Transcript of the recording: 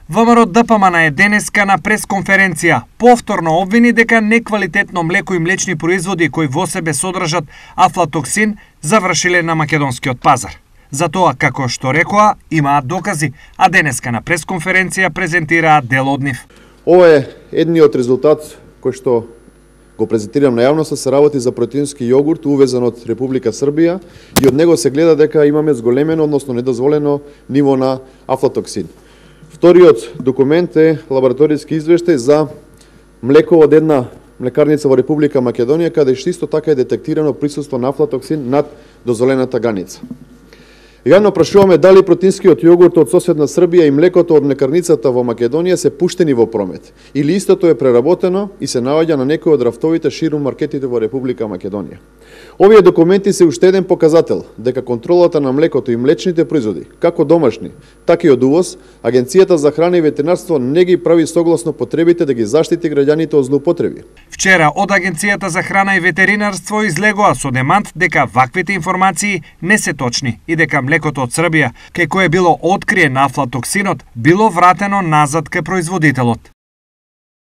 ВМРО ДПМН е денеска на пресконференција повторно обвини дека неквалитетно млеко и млечни производи кои во себе содржат афлатоксин завршиле на македонскиот пазар. За тоа, како што рекоа, имаат докази, а денеска на пресконференција презентираат дел од нив. Ова е едниот резултат кој што го презентирам на јавноста, се работи за протеински јогурт увезен од Република Србија и од него се гледа дека имаме зголемено, односно недозволено ниво на афлатоксин. Вториот документ е лабораториски извештај за млеко од една млекарница во Република Македонија, каде што исто така е детектирано присуство на афлатоксин над дозволената граница. Јавно прашуваме дали протеинскиот јогурт од соседна Србија и млекото од млекарницата во Македонија се пуштени во промет, или истото е преработено и се наоѓа на некој од рафтовите ширум маркетите во Република Македонија. Овие документи се уште еден показател дека контролата на млекото и млечните производи, како домашни, така и од увоз, Агенцијата за храна и ветеринарство не ги прави согласно потребите да ги заштити граѓаните од злоупотреби. Вчера од Агенцијата за храна и ветеринарство излегоа со демант дека ваквите информации не се точни и дека млекото од Србија, кај кое било откриен афлатоксинот, било вратено назад кај производителот.